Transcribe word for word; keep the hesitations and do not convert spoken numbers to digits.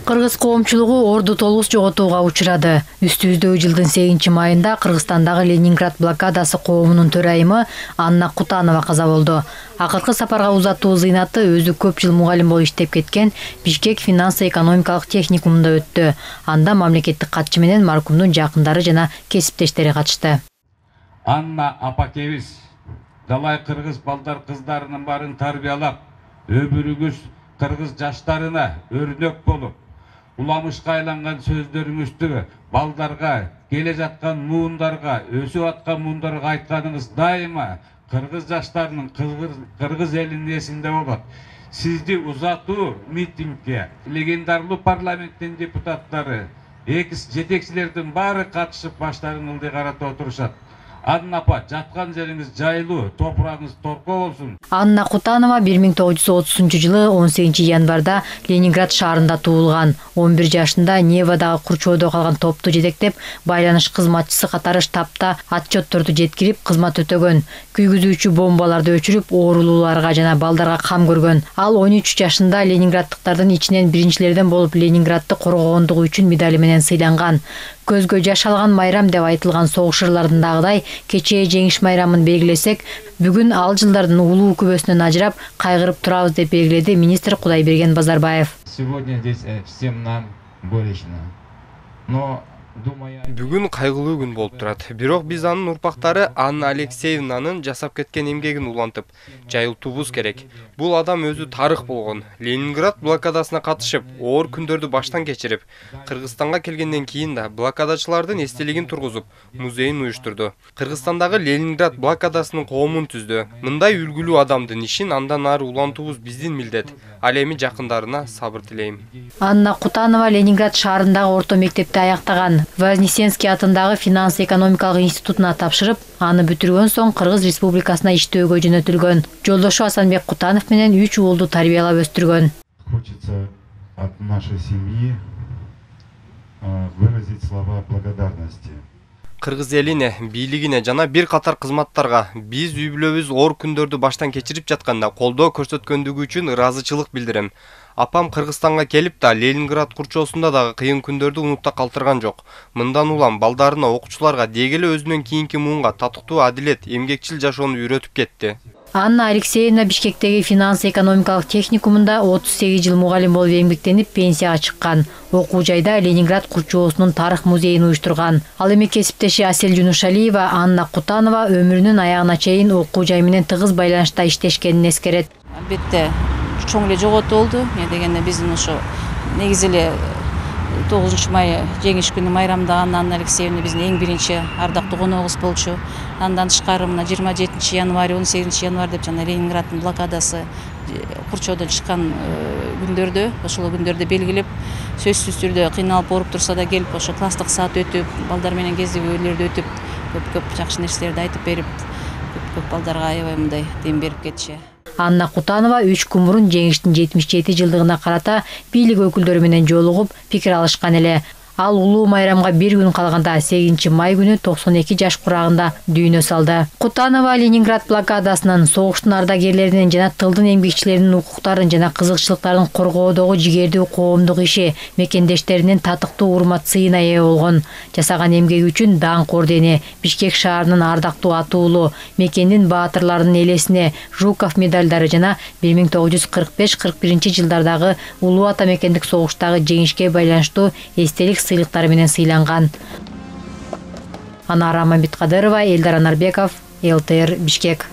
Кыргыз коомчулугу орду толугу жоготууга учурады. Үстүбүздөгү жылдын сегизинчи майында Кыргызстандагы Ленинград блокадасы коомунун төрайымы Анна Кутанова каза болду. Акыркы сапарга узатуу зыйнаты өзү көп жыл мугалим болуп иштеп кеткен Бишкек финансо-экономикалык техникумунда өттү. Анда мамлекеттик катчы менен маркумдун жакындары жана кесиптештери катышты. Анна апакебиз далай кыргыз балдар кыздарынын баарын тарбиялап, өмүрүңүз кыргыз жаштарына өрнөк болуп, уламышка айланган сөздөрүңүздү балдарга, келе жаткан муундарга, өсүп аткан муундарга айтканыңыз дайыма кыргыз жаштарынын, кыргыз элинин эсинде болот. Сизди узатуу митингге легендарлуу парламенттин депутаттары, экс жетекчилердин баары катышып баштарын ылдый карата отурушат. Анна апа, жаткан жериңиз жайлуу, топурагыңыз торко болсун. Анна Кутанова бир миң тогуз жүз отузунчу жылы он сегизинчи январда Ленинград шаарында туулган. он бир жашында Невадагы Курчоодо калган топту жетектеп, байланыш кызматчысы катары штабта отчетторду жеткирип кызмат өтөгөн. Күйгүзүүчү бомбаларды өчүрүп, оорулууларга жана балдарга кам көргөн. Ал он үч жашында ленинграддыктардын ичинен биринчилерден болуп Ленинградды коргогондугу үчүн медали менен сыйланган. Көзгө жаш алган майрам деп айтылган согуш ырларындагыдай кечээ жеңиш майрамын белгилесек, бүгүн ал жылдардын улуу күбөсүнөн ажырап, кайгырып турабыз деп белгиледи министр Кудайберген Базарбаев. Сегодня здесь всем нам горестно. Но Бүгүн кайгылуу күн болуп турат. Бирок биз анын урпактары Анна Алексеевнанын жасап кеткен эмгегин улантып, жайылтуубуз керек. Бул адам өзү тарых болгон. Ленинград блокадасына катышып, оор күндөрдү баштан кечирип, Кыргызстанга келгенден кийин да блокадачылардын эстелигин тургузуп, музейин уюштурду. Кыргызстандагы Ленинград блокадасынын коомун түздү. Мындай үлгүлүү адамдын ишин андан ары улантуубуз биздин милдет. Ал эми жакындарына сабыр тилейм. Анна Кутанова Ленинград шаарындагы орто мектепти аяктаган. Вознесенский атындагы финанс-экономикалык институтуна тапшырып, аны бүтүргөн соң Кыргыз Республикасына иштөөгө жөнөтүлгөн. Жолдошу Асанбек Кутанов менен үч уулду тарбиялап өстүргөн. Хочется от нашей семьи выразить слова благодарности. Кыргыз элине, бийлигине жана бир катар кызматтарга биз үй бүлөбүз оор күндөрдү баштан кечирип жатканда колдоо көрсөткөндүгү үчүн ыраазычылык билдирем. Апам Кыргызстанга келип да Ленинград курчоосунда дагы кыйын күндөрдү унутта калтырган жок. Мындан улам балдарына, окуучуларга, деги эле өзүнөн кийинки муунга татыктуу адилет, эмгекчил жашоону үйрөтүп кетти. Анна Алексеевна Бишкектеги финанс-экономикалык техникумунда отуз сегиз жыл мугалим болуп эмгектенип пенсияга чыккан. Окуу жайда Ленинград курчоосунун тарых музейин уюштурган. Ал эми кесиптеши Асель Жунушалиева Анна Кутанова өмүрүнүн аягына чейин окуу жай менен тыгыз байланышта иштешкенин эскерет. Албетте чоң эле жоготуу болду. Эмне дегенде биздин ошо негизи эле тогузунчу май жеңиш күнү майрамдаган Анна Алексеевна биздин эң биринчи ардактуу коногубуз болчу. Андан тышкары мына жыйырма жетинчи январь, он сегизинчи январь деп жана Ленинграддын блокадасы Курчоодон чыккан күндөрдө, ошол күндөрдө белгилеп, сөзсүз түрдө кыйналып ооруп турса да келип, ошо класстык саат өтүп, балдар менен кездебүүлөрдү өтүп, көп-көп жакшы нерселерди айтып берип, көп-көп балдарга аябай мындай дем берип кетчү. Анна Кутанова үч күн мурун жеңиштин жетимиш жети жылдыгына карата бийлик өкүлдөрү менен жолугуп, пикир алышкан эле. Ал улуу майрамга бир күн калганда сегизинчи май күнү токсон эки жаш курагында дүйнө салды. Кутанова Ленинград блокадасынын, согуштун ардагерлеринин жана тылдын эмгекчилеринин укуктарын жана кызыкчылыктарын коргоодогу жигердүү коомдук иши, мекендештеринин татыктуу урмат сыйына ээ болгон. Жасаган эмгеги үчүн даңк ордени, Бишкек шаарынын ардактуу атуулу, мекендин баатырларынын элесине Жуков медалдары жана бир миң тогуз жүз кырк беш кырк биринчи жылдардагы улуу ата мекендик согуштагы жеңишке байланыштуу эстелик сыйлыктары менен сыйланган. Анара Мамбеткадырова, Элдар Анарбеков, эл тэ эр Бишкек.